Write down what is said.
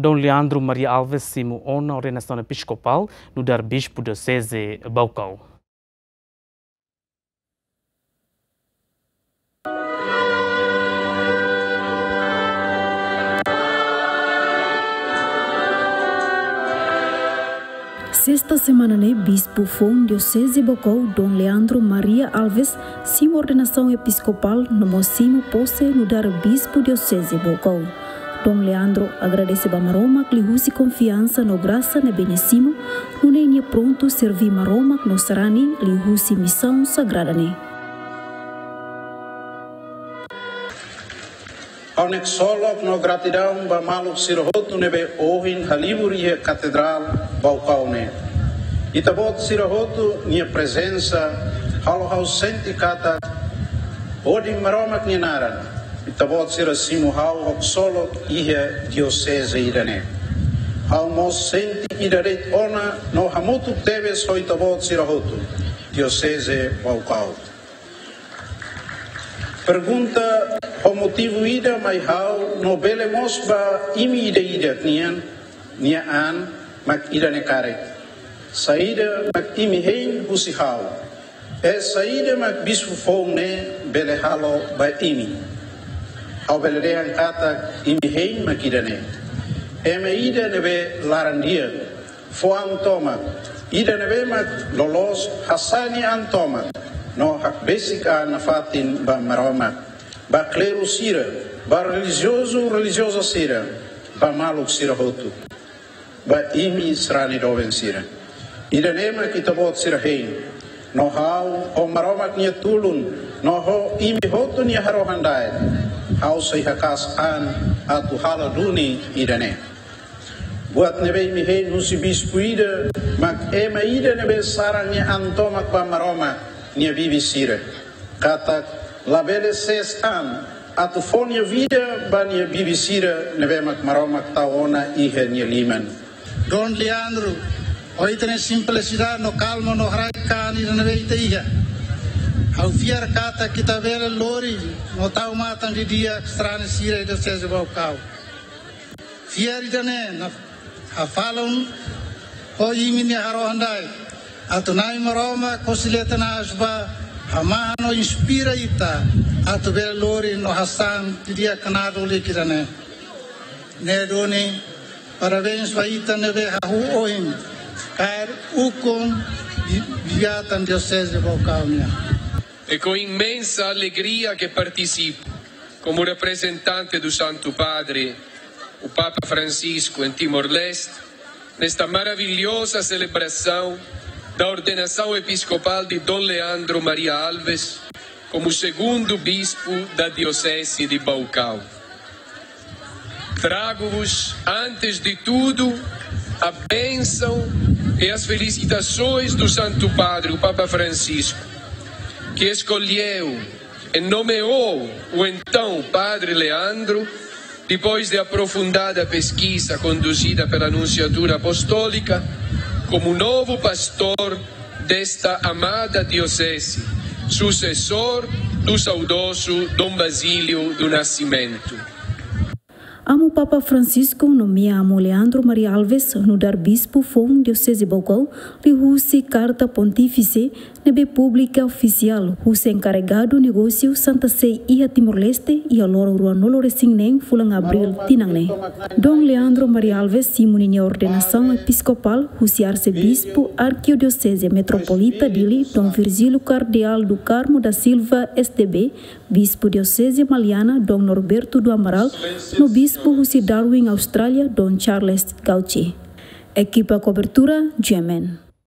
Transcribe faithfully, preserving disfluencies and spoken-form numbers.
Dom Leandro Maria Alves simu ona ordenasaun episkopál nu'udar bispu dioseze Baucau. Sesta semana ne'e, bispu foun dioseze Baucau, Dom Leandro Maria Alves, simu ordenasaun episkopál no mós simu pose nu'udar bispu dioseze Baucau. Dom Leandro agradese ba Maromak liuhusi konfiansa no grasa ne'ebé nia simu, nune'e nia prontu serví Maromak no sarani liuhusi misaun sagrada ne'e. Ha'u ksolok no gratidaun ba maluk sira hotu ne'ebé ohin halibur iha Katedrál Baucau ne'e. Ita-boot sira hotu nia prezensa halo ha'u sente katak hodi Maromak nia naran, ita-boot sira simu ha'u ho ksolok iha dioseze ida-ne'e. Ha'u mós sente ida de'it ona no hamutuk tebes ho ita-boot sira hotu, dioseze Baucau. Pergunta ho motivu ida mai ha'u no bele mós ba imi ida-idak nian, nia an mak ida-ne'e karik. Saida mak imi hein husi ha'u? I saida mak bispu foun ne'e bele halo ba imi? Ha'u bele dehan katak imi hein mak ida-ne'e. Ema ida ne'ebé laran-di'ak, fó an tomak, ida ne'ebé mak loloos hasa'e nia an tomak no hakbesik an nafatin ba Maromak, ba kleru sira, ba relijiozu, relijioza sira, ba maluk sira hotu, ba imi sarani doben sira. Ida-ne'e mak ita-boot sira hein, no ha'u ho Maromak nia tulun, no ho imi hotu nia harohan-daet, ha'u sei haka'as an atu halo duni ida-ne'e. Buat ne'ebé imi hein husi bispu ida mak ema ida ne'ebé saran nia an tomak ba Maromak nia bibi sira. Katak labele sees an atu fó nia vida ba nia bibi sira ne'ebé mak Maromak tau ona iha nia liman. Dom Leandro, ho ita-nia simplisidade no kalma no haraik-an ida ne'ebé ita iha, ha'u fiar katak ita bele lori no tau matan didi'ak sarani sira iha dioseze Baucau. Fiar ida-ne'e na hafalun ho imi-nia harohan-daet, atu Na'i Maromak ho si leten aas ba hamahan no inspira ita atu bele lori no hasa'e didi'ak knadul ida-ne'e. Ne'e duni, parabéns ba ita ne'ebé hahú ohin kaer ukun di, di atan dioseze Baucau nian. É com imensa alegria que participo, como representante do Santo Padre, o Papa Francisco, em Timor-Leste, nesta maravilhosa celebração da ordenação episcopal de Dom Leandro Maria Alves como segundo bispo da Diocese de Baucau. Trago-vos, antes de tudo, a bênção e as felicitações do Santo Padre, o Papa Francisco, que escolheu e nomeou o então Padre Leandro, depois de aprofundada pesquisa conduzida pela Nunciatura Apostólica, como novo pastor desta amada diocese, sucessor do saudoso Dom Basílio do Nascimento. Amu Papa Francisco nomeia Amu Leandro Maria Alves nu'udar bispu foun dioseze Baucau, liuhusi karta pontífise ne'ebé publika ofisiál husi enkarregadu negósiu Santa Sé iha Timor-Leste iha loron ruanulu-resin-neen fulan Abríl tinan ne'e. Dom Leandro Maria Alves simu ninia ordenasaun episkopál husi Arsebispu Arkidioseze Metropolita Dili, Dom Virgílio Cardeal do Carmo da Silva, S D B, Bispu Dioseze Maliana, Dom Norberto do Amaral, no Bispu husi Darwin, Austrália, Dom Charles Gauci. Ekipa kobertura, G M N.